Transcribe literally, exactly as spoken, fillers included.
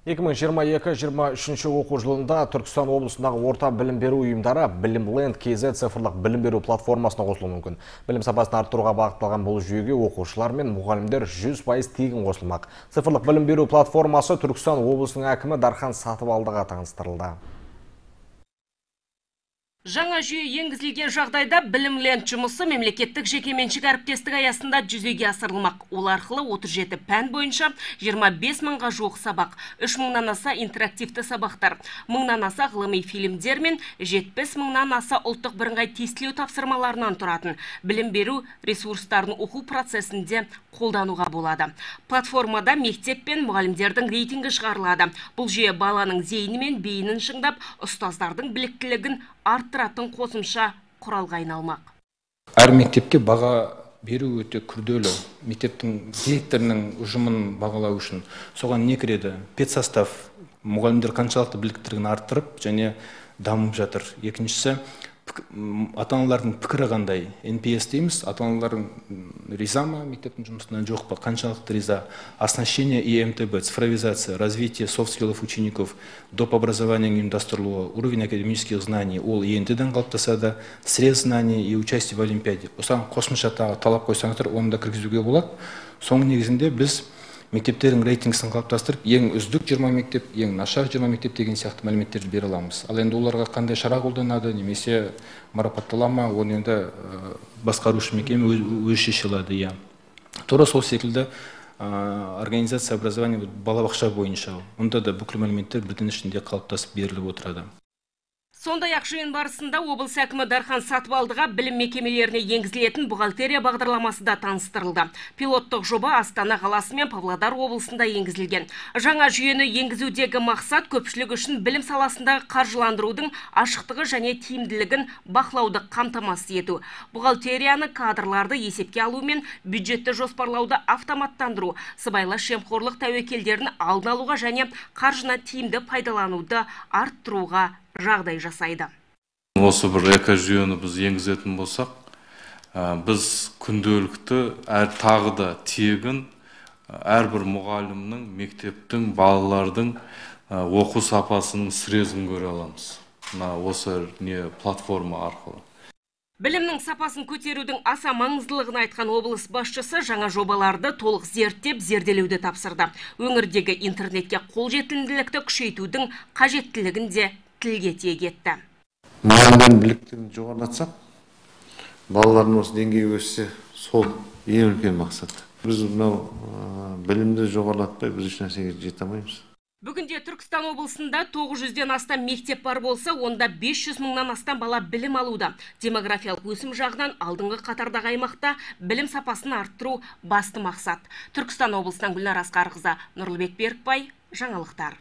екі мың жиырма екі жиырма үшінші оқу жылында Түркістан облысындағы орта білім беру ұйымдары Білімленд кз цифрлық білім беру платформасына қосылуы мүмкін. Білім сапасын арттыруға бағытталған бұл жүйеге оқушылар мен мұғалімдер жүз пайыз тегін қосылмақ. Цифрлық білім беру платформасы Түркістан облысының әкімі Дархан Сатыбалдыға таныстырылды. Жаңа жүйе енгізілген жағдайда Білімленд жұмысы мемлекеттік жекеменшік әріптестік аясында жүзеге асырылмақ. Ол арқылы отыз жеті пән бойынша жиырма бес мыңға жуық сабақ, үш мыңнан аса интерактивті сабақтар, мыңнан аса ғылыми фильмдер мен жетпіс мыңнан аса ұлттық бірыңғай тестілеу тапсырмаларынан тұратын білім беру ресурстарын оқу процесінде қолдануға болады. Платформада мектеп пен мұғалімдердің рейтингі шығарылады. Бұл жүйе баланың зейіні мен бейінін шыңдап, ұстаздардың біліктілігін арттыратын қосымша құралға айналмақ. Әр мектепке баға беру өте күрделі. Мектептің директорының ұжымын бағалау үшін соған не кіреді? Педсостав, мұғалімдер қаншалықты біліктілігін арттырып және дамып жатыр. Екіншісі, ата-аналардың пікірі қандай? эн пи эс дейміз, ата-аналардың риза ма мектептің жұмысына, жоқ па, қаншалықты риза? Оснащение и эм тэ бэ, цифровизация, развитие софт-скиллов учеников, доп. Образования ұйымдастырылуы, уровень академических знаний, ол е эн тэ-ден қалыптасады, срез знаний и участие в олимпиаде. Осыған қосымша талап қойсаңыздар, оны да кіргізуге болады. Соның негізінде біз мектептердің рейтингісін қалыптастырып, ең үздік жиырма мектеп, ең нашар жиырма мектеп деген сияқты мәліметтерді бере аламыз. Ал енді оларға қандай шара қолданады, немесе марапаттала ма, оны енді басқарушы мекеме өз шеше алады. Тура сол секілді организация образования балабақша бойынша, онда да бүкіл мәліметтер бірден ішінде қалыптасып беріліп отырады. Сондай-ақ жиын барысында облыс әкімі Дархан Сатыбалдыға білім мекемелеріне енгізілетін бухгалтерия бағдарламасы да таныстырылды. Пилоттық жоба Астана қаласы мен Павлодар облысында енгізілген. Жаңа жүйені енгізудегі мақсат көпшілік үшін білім саласындағы қаржыландырудың ашықтығы және тиімділігін бақылауды қамтамасыз ету. Бухгалтерияны, кадрларды есепке алу мен бюджетті жоспарлауды автоматтандыру, сыбайлас жемқорлық тәуекелдерін алдын алуға және қаржыны тиімді пайдалануды арттыруға жағдай жасайды. Осы бір экожүйені біз енгізетін болсақ, біз күнделікті әр тағы да тегін әрбір мұғалімнің, мектептің, балалардың оқу сапасының срезін көре аламыз. Осы не платформа арқылы. Білімнің сапасын көтерудің аса маңыздылығын айтқан облыс басшысы жаңа жобаларды толық зерттеп, зерделеуді тапсырды. Өңірдегі интернетке қолжетімділікті күшейтудің қажеттілігін де тілге тиек етті. Мұғалімдердің біліктілігін жоғарылатсақ, балалардың осы деңгейі өссе, сол ең үлкен мақсат. Біз мынау білімді жоғарылатпай біз еш нәрсеге жете алмаймыз. Бүгінде Түркістан облысында тоғыз жүзден астам мектеп бар болса, онда бес жүз мыңнан астам бала білім алуда. Демографиялық өсім жағынан алдыңғы қатардағы аймақта білім сапасын арттыру басты мақсат. Түркістан облысынан Гүлнар Асқарқызы, Нұрлыбек Берікбай, жаңалықтар.